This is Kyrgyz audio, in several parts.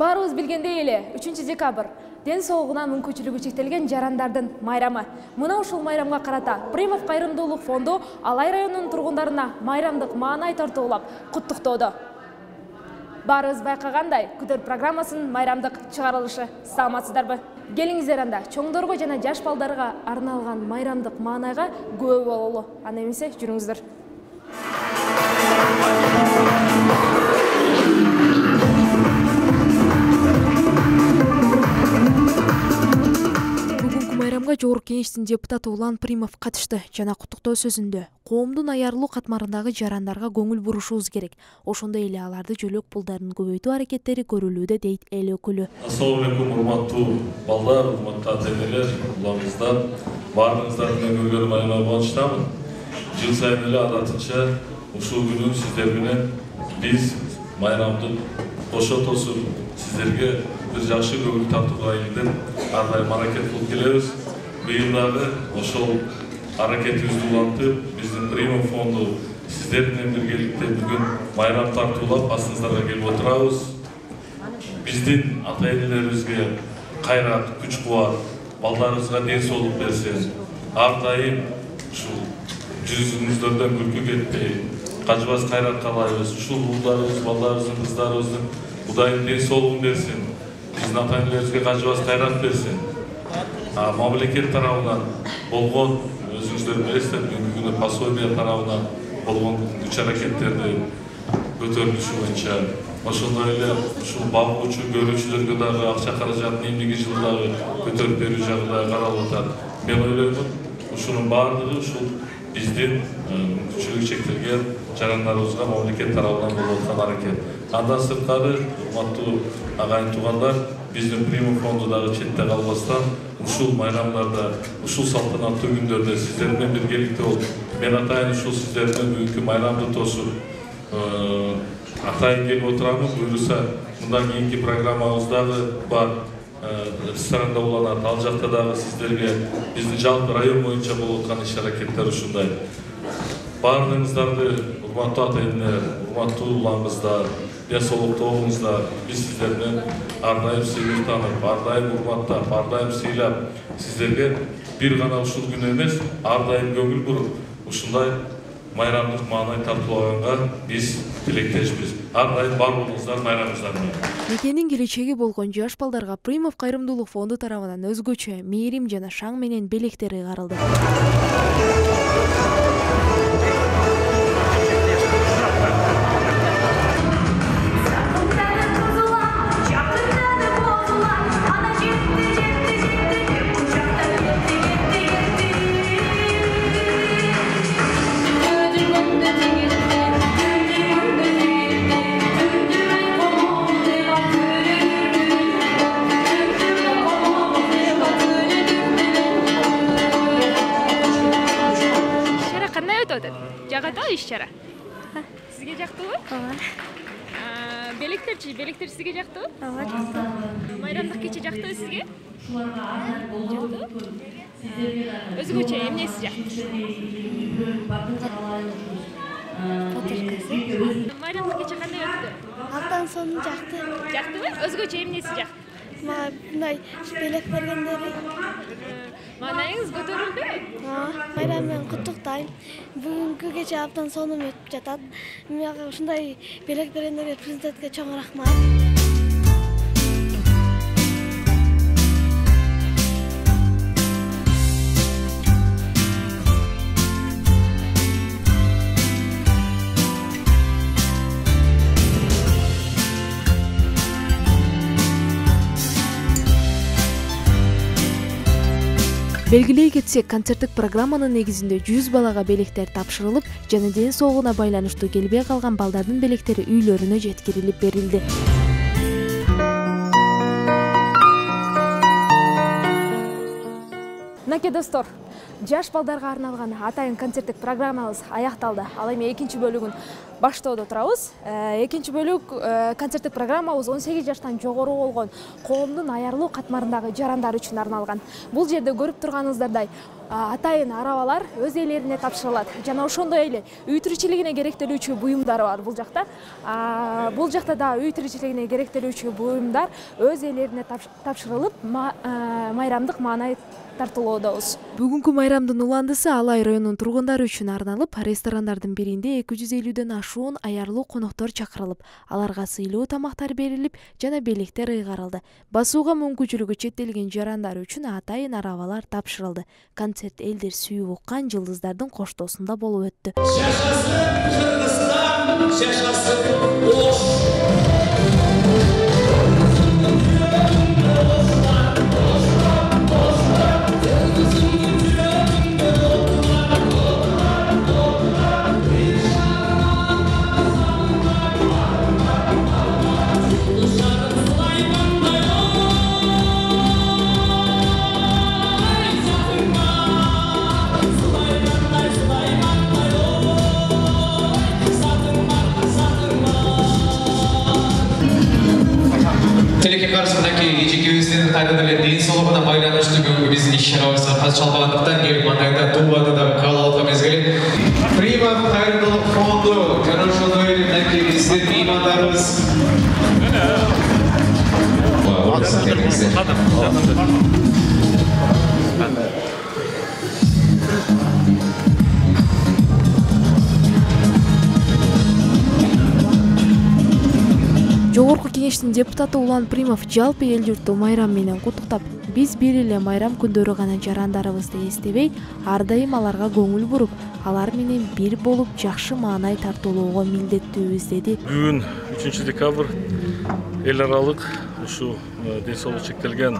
Баарыбыз билгендей эле 3 декабрь ден соолугуна мүмкүнчүлүгү чектелген жарандардын майрамы. Мына ушул майрамга карата Примов кайрымдуулук фонду Алай районунун тургундарына майрамдык маанай тартуулап куттуктоодо. Баарыбыз байкагандай, күтөр программасынын майрамдык чыгарылышы. Саламатсыздарбы? Келиңиздер анда чоңдорго жана жаш балдарга арналган майрамдык маанайга күбө бололу. Анда эмесе жүрүңүздөр. Майрамга Жогорку Кеңештин депутаты Улан Примов катышты жана куттуктоо сөзүндө коомдун аярлуу катмарындагы жарандарга көңүл бурушубуз керек. Ошондой эле аларды жөлөк пулдарын көбөйтүү аракеттери көрүлүүдө дейт эл өкүлү. Ассалому алейкум, урматтуу балдар, урматтуу ата-энелер, уламыздар, баарыңыздар менен көргөнүмө аябай кубанычтамын. Жыл сайын эле адатынча ушул күнү сиздер менен биз майрамдык кошо тосуп сиздерге бир жакшы көңүл тартууга илиндеп ар дайым аракет кылып келебиз. Быйыл дагы ошол аракетибизди улантып, биздин Примов фонду сиздер менен биргеликте бүгүн майрам тартуулап басыңыздарга келип отурабыз. Биздин ата-энелерибизге кайрат, күч-кубат, балдарыбызга ден соолук берсин. Ар дайым ушул жүзүңүздөрдөн күлкү кетпей, кажыбас кайрат каалайбыз. Ушул уулдарыбыз, балдарыбыздын, кыздарыбыздын Кудайым ден соолугун берсин. Биздин ата-энелерибизге кажыбас кайрат берсин. Мамлекет тарабынан болгон, өзүңүздөр билесиздер, бүгүнкү күнү пособия тарабынан болгон күч-аракеттерди көтөрүлүшү боюнча, ошондой эле ушул багуучу көрүүчүлөргө дагы акча каражатын эмдиги жылы дагы көтөрүп берүү жагы дагы каралып атат. Мен ойлоймун, ушунун баардыгы ушул биздин мүмкүнчүлүгү чектелген жарандарыбызга мамлекет тарабынан болуп аткан аракет. Андан сырткары, урматтуу агайын туугандар, биздин Примов фонду дагы четте калбастан ушул майрамдарда, ушул салтанаттуу күндөрдө сиздер менен биргеликте болуп, мен атайын ушул сиздер менен бүгүнкү майрамды тосуп, атайын келип отурамын. Буюрса, мындан кийинки программабыз дагы бар, ресторанда уланат. Ал жакта дагы сиздерге биздин жалпы район боюнча болуп аткан иш-аракеттер ушундай. Баардыгыңыздарды, урматтуу ата-энелер, урматтуу уламыздар, ден соолуктуңуздар, биз сиздер менен ар дайым сыйынып таанып, ар дайым урматтап, ар дайым сыйлап, сиздерге бир гана ушул күн эмес, ар дайым көңүл буруп, ушундай майрамдык маанай тартуулаганга биз тилектешпиз. Ар дайым бар болуңуздар, майрамыңыздар менен. Мекенин келечеги болгон жаш балдарга Примов кайрымдуулук фонду тарабынан өзгөчө мээрим жана шаң менен белектер ыйгарылды. Жагат иш-чара. Сизге жактыбы? Ооба. Белектерчи сизге жактыбы? Ооба, жактыбы. Майрамдык кече жактыбы сизге? Жактыбы? Өзгөчө эмнеси жакты? Майрамдык кече кандай өттү? Абдан сонун жакты. Жактыбы? Өзгөчө эмнеси жакты? Мага мындай белек бергендери. Маанайыңыз көтөрүлдү? Майрам менен куттуктайм. Бүгүнкү кече абдан сонун өтүп жатат. Мага ушундай белек бергендерге президентке чоң рахмат. Белгилей кетсек, концерттик программанын негизинде 100 балага белектер тапшырылып, жана ден соолугуна байланыштуу келбей калган балдардын белектери үйлөрүнө жеткирилип берилди. Мынакей достор, Жаш балдарга арналган атайын концерттик программабыз аякталды. Ал эми экинчи бөлүгүн баштоодо турабыз. Экинчи бөлүк концерттик программабыз 18 жаштан жогору болгон коомдун аярлуу катмарындагы жарандар үчүн арналган. Бул жерде көрүп турганыңыздардай атайын арабалар өз ээлерине тапшырылат. Жана ошондой эле үй тиричилигине керектелүүчү буюмдар бар бул жакта. Бул жакта да үй тиричилигине керектелүүчү буюмдар өз ээлерине тапшырылып, майрамдык маанай тартуулоодобуз. Бүгүнкү майрамдын уландысы Алай районунун тургундары үчүн арналып, ресторандардын биринде 250ден ашуун аярлуу коноктор чакырылып, аларга сыйлуу тамактар берилип, жана белектер ыйгарылды. Басууга мүмкүнчүлүгү чектелген жарандар үчүн атайын арабалар тапшырылды. Концерт элдер сүйүп уккан жылдыздардын коштоосунда болуп өттү. Телеке каршысындагы эжекебиздин кайрадан эле ден соолугуна байланыштуу бүгүнкү биздин иш-чарабызга катышалбагандыктан келип мандайда тууларды дагы кабыл алып аткан мезгили. Прима кайрымдуулук фонду жана ошондой эле мынакей биздин меймандарыбыз. Жогорку кеңештин депутаты Улан Примов жалпы эл журтту майрам менен куттуктап, биз бир эле майрам күндөрү гана жарандарыбызды эстебей, ар дайым аларга көңүл буруп, алар менен бир болуп жакшы маанай тартуулоого милдеттүүбүз деди. Бүгүн 3 декабрь эл аралык ушу ден соолугу чектелген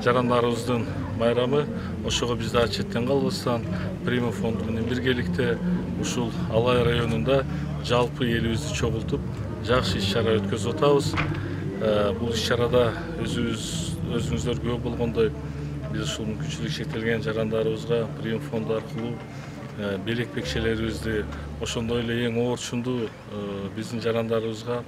жарандарыбыздын майрамы. Ошого биз да четтен калбастан Примов фонду менен биргеликте ушул Алай районунда жалпы элибизди чогултуп жакшы иш-чара өткөзүп атабыз. Бул иш-чарада өзүңүздөр күбө болгондой биз ушул мүмкүнчүлүгү чектелген жарандарыбызга Примов фонду аркылуу белек бекчелерибизди, ошондой эле эң оорчундуу биздин жарандарыбызга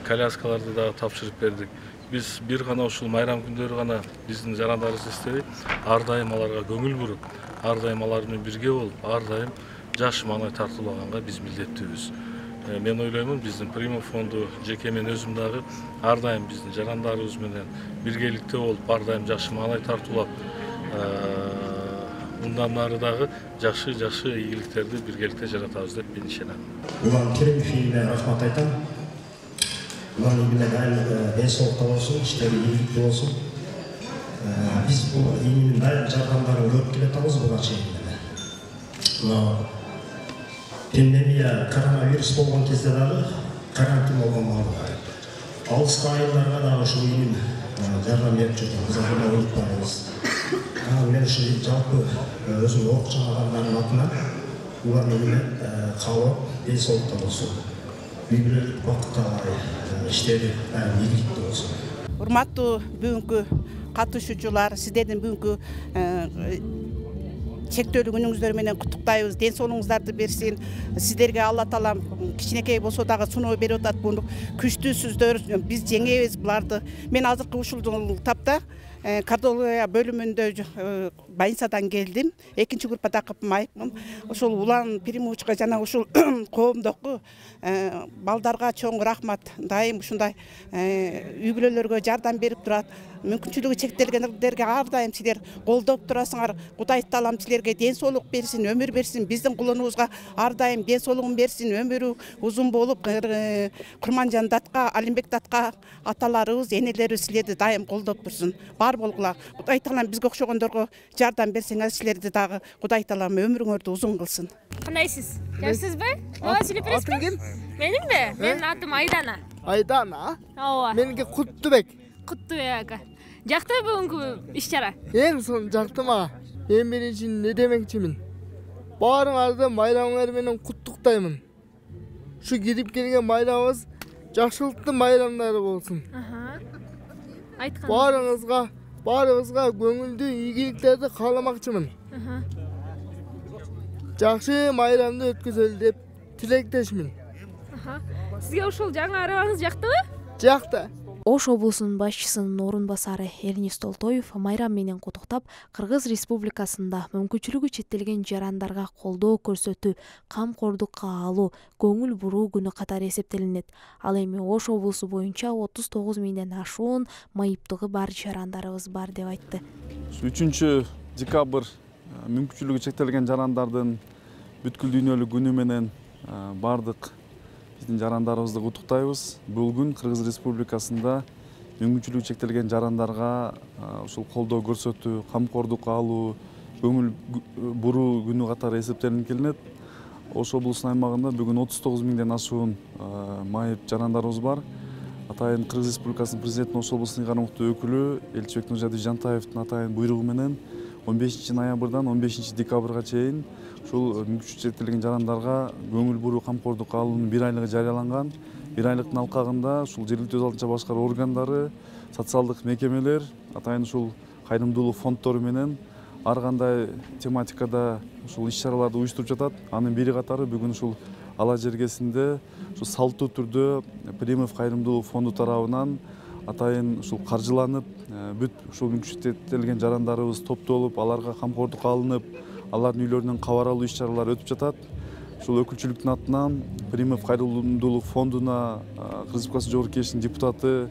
коляскаларды да тапшырып бердик. Биз бир гана ушул майрам күндөрү гана биздин жарандарыбызды эстебей, ар дайым аларга көңүл буруп, ар дайым алар менен бирге болуп, ар дайым жакшы маанай тартуулаганга биз милдеттүүбүз. Мен ойлоймун, биздин Примов фонду жеке мен өзүм дагы ар дайым биздин жарандарыбыз менен биргеликте болуп, ар дайым жакшы маанай тартуулап, мындан нары дагы жакшы ийгиликтерди биргеликте жаратабыз деп мен ишенем. Улан Керимовге рахмат айтам. Улан ийгиле дайым ден соолукта болсун, иштери ийгиликтүү болсун. Биз бул ийгиликтин дайым жардамдарын көрүп келатабыз буга чейин. Пандемия, коронавирус болгон кезде дагы карантин болгон балдар. Алыскы айылдарга дагы ушул ийгил жардам берип жүрдүк. Аны унутпайбыз. Мен ушул жалпы өзүм окуучу адамдардын атынан уларны менен каалап, ден соолукта болсун. Үй-бүлөлүк бакытта иштери ийгиликтүү болсун. Урматтуу бүгүнкү катышуучулар, сиздердин бүгүнкү чектөөлүү күнүңүздөр менен куттуктайбыз. Ден соолугуңуздарды берсин. Сиздерге Алла таалам кичинекей болсо дагы суноо берип атат. Бул күчтүүсүздөр, биз жеңебиз буларды. Мен азыркы ушул тапта кардиология бөлүмүндө больницадан келдим. Экинчи группада капмаймын. Ушул Улан Примовичка жана ушул коомдогу балдарга чоң рахмат. Дайым ушундай үй-бүлөлөргө жардам берип турат. Мүмкүнчүлүгү чектелгендерге ар дайым силер колдоп турасыңар. Кудай таалам силерге ден соолук берсин, өмүр берсин. Биздин кулунубузга ар дайым ден соолугун берсин, өмүрү узун болуп, Курманжан датка, Алимбек датка аталарыбыз, энелерибиз силерди дайым колдоп турсун. Бар болгула. Кудай таалам бизге окшогондорго жардам берсеңер, силерди дагы Кудай таалам өмүрүңөрдү узун кылсын. Кандайсыз? Жакшысызбы? Ооба, сүйлөп бересизби? Менимби? Менин атым Айдана. Айдана? Ооба. Меники Куттубек. Куттубек ака. Жакты бүгүнкү иш-чара? Эң сонун жакты мага. Эң биринчи не демекчимин? Баарыңарды майрамыңар менен куттуктаймын. Ушу кирип келген майрамыбыз жакшылыктын майрамдары болсун. Айткан. Баарыңызга баарыбызга көңүлдүү ийгиликтерди кааламакчымын. Жакшы майрамды өткөзөлү деп тилектешмин. Сизге ушул жаңы арабаңыз жактыбы? Жакты. Ош облусунун башчысынын орун басары Эрнест Толтоев майрам менен куттуктап, Кыргыз Республикасында мүмкүнчүлүгү чектелген жарандарга колдоо көрсөтүү, камкордукка алуу, көңүл буруу күнү катары эсептелинет. Ал эми Ош облусу боюнча 39 миңден ашуун майыптыгы бар жарандарыбыз бар деп айтты. 3 декабрь мүмкүнчүлүгү чектелген жарандардын бүткүл дүйнөлүк күнү менен бардык биздин жарандарыбызды куттуктайбыз. Бул күн Кыргыз Республикасында мүмкүнчүлүгү чектелген жарандарга ушул колдоо көрсөтүү, камкордукка алуу, көңүл буруу күнү катары эсептелинип келинет. Ош облусунун аймагында бүгүн 39 миңден ашуун майып жарандарыбыз бар. Атайын Кыргыз Республикасынын президентинин Ош облусунун ыйгарым өкүлү Элчибек Нуржадиев Жантаевдин атайын буйругу менен 15 ноябрдан 15 декабрга чейин ушул мүмкүнчүлүгү чектелген жарандарга көңүл буруу камкордукка алуунун 1 айлыгы жарыяланган. 1 айлыктын алкагында ушул жергиликтүү өз алдынча башкаруу органдары, социалдык мекемелер, атайын ушул кайрымдуулук фонддору менен ар кандай тематикада ушул иш-чараларды уюштуруп жатат. Анын бири катары бүгүн ушул Ала жергесинде ушул салттуу түрдө Примов кайрымдуулук фонду тарабынан атайын ушул каржыланып, бүт ушул мүмкүнчүлүгү чектелген жарандарыбыз топтолуп, аларга камкордукка алынып, алардын үйлөрүнөн кабар алуу иш-чаралары өтүп жатат. Ушул өкүлчүлүктүн атынан Примов кайрымдуулук фондуна Кыргыз Республикасы Жогорку Кеңешинин депутаты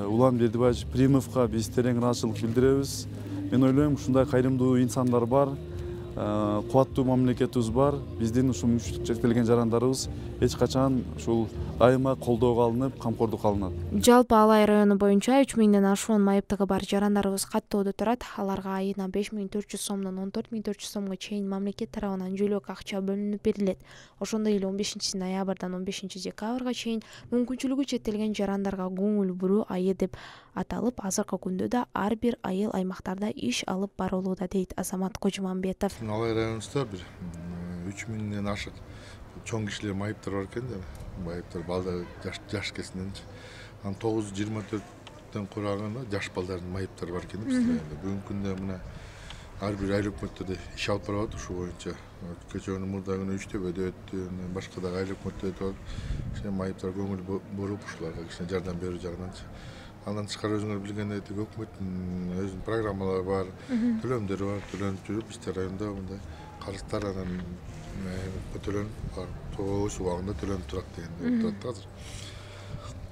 Улан Бердибаевич Примовго биз терең ыраазычылык билдиребиз. Мен ойлойм, ушундай кайрымдуу инсандар бар, кубаттуу мамлекетибиз бар. Биздин ушул мүмкүнчүлүгү чектелген жарандарыбыз эч качан ушул айыма колдоого алынып, камкордукка алынат. Жалпы Алай району боюнча 3 миңден ашуун майыптыгы бар жарандарыбыз каттоодо турат. Аларга айына 5400 сомдон 14400 сомго чейин мамлекет тарабынан жөлөк акча бөлүнүп берилет. Ошондой эле 15 ноябрдан 15 декабрга чейин мүмкүнчүлүгү чектелген жарандарга көңүл буруу айы деп аталып, азыркы күндө да ар бир айыл аймактарда иш алып барылууда, дейт Азамат Кожумамбетов. Алай районубузда бир 3 миңден ашык чоң кишилер майыптар бар экен да. Майыптар балдар жаш кесиненчи. Анан 924дөн кураган жаш балдардын майыптары бар экен бизде. Бүгүнкү күндө мына ар бир айыл өкмөттөрдө иш алып барып атат ушул боюнча. Кечээ мурда күнү 3 төбөдө өттү, башка да айыл өкмөттөрдө өтүп атат. Ошо майыптар көңүл буруп ушуларга кичине жардам берүү жагынан. Андан тышкары өзүңөр билгендей өкмөттүн өзүнүн программалары бар, төлөмдөрү бар, төлөнүп жүрүп бизде районда мындай карыздар анан төлөнүп бар, тоос убагында төлөнүп турат деген турат азыр.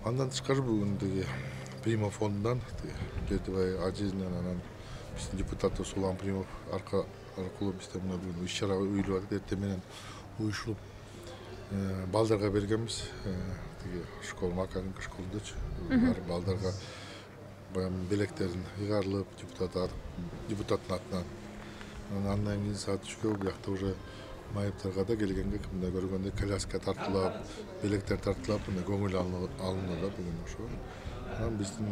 Андан тышкары бүгүн Примов фондунан Бердибай Ажизинен анан биздин депутатыбыз Улан Примов аркылуу бизде мына бүгүн иш-чара уюлуп атат. Эртең менен уюшулуп балдарга бергенбиз. Школа, макаренко школдочу. Балдарга белектерин ыйгарылып, депутаттын атынан. Андан кийин саат 3кө бuyakta уже майыптарга да келгенге мындай көргөндө коляска тартылып, белектер тартылып, мындай көңүл алынды бүгүн ошо. Анан биздин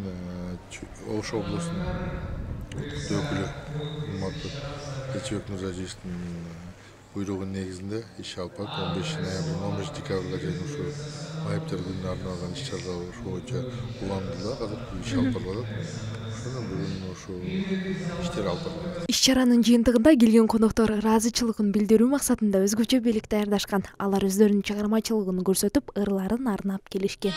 Ош облусунун өкүлү Элчибек Нуржадиевдин буйругунун негизинде иш алып барып 15 ноябрдан 15 декабрга чейин ушу майыптар күнүнө арналган иш-чаралар ошол боюнча уланды азыр иш алып барып атат. Ошондон бүгүн ушу иштер алып барып. Иш-чаранын жыйынтыгында келген коноктор ыраазычылыгын билдирүү максатында өзгөчө белек даярдашкан. Алар өздөрүнүн чыгармачылыгын көрсөтүп, ырларын арнап келишкен.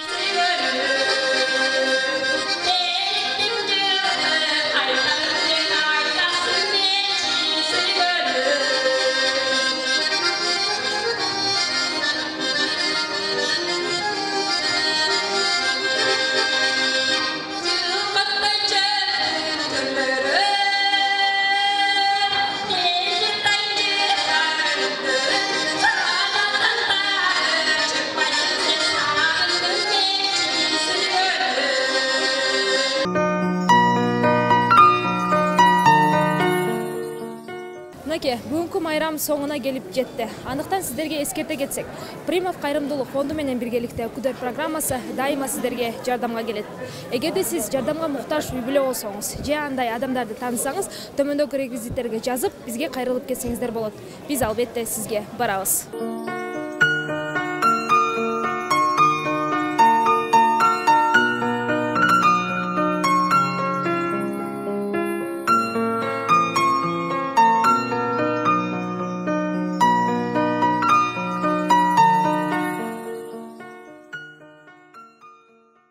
Бүгүнкү майрам соңуна келип жетти. Андыктан сиздерге эскерте кетсек, Примов кайрымдуулук фонду менен биргеликте Өкүдөр программасы дайыма сиздерге жардамга келет. Эгерде сиз жардамга муктаж үй бүлө болсоңуз же андай адамдарды таанысаңыз, төмөндөгү реквизиттерге жазып, бизге кайрылып кетсеңиздер болот. Биз албетте сизге барабыз.